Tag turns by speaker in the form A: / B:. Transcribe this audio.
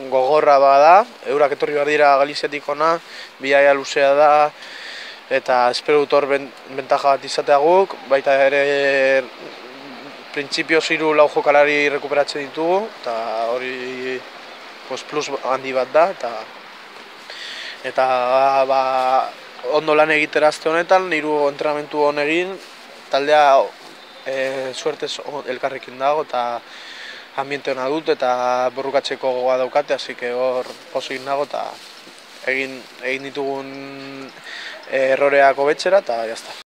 A: Gogorra bada, eurak etorri behar dira Galiziatik ona, bidaia luzea da, eta espero dut hor bentaja bat izatea guk, baita ere printzipioz 3-4 jokalari rekuperatzen ditugu, eta hori plus handi bat da, eta ondo lan egitera aste honetan, 3 entrenamentu hon egin, taldea suertez elkarrekin dago, eta ambiente hona dut eta borrukatzeko gogoa daukate, así que hor pozik nago eta egin ditugun erroreak hobetzera eta jazta.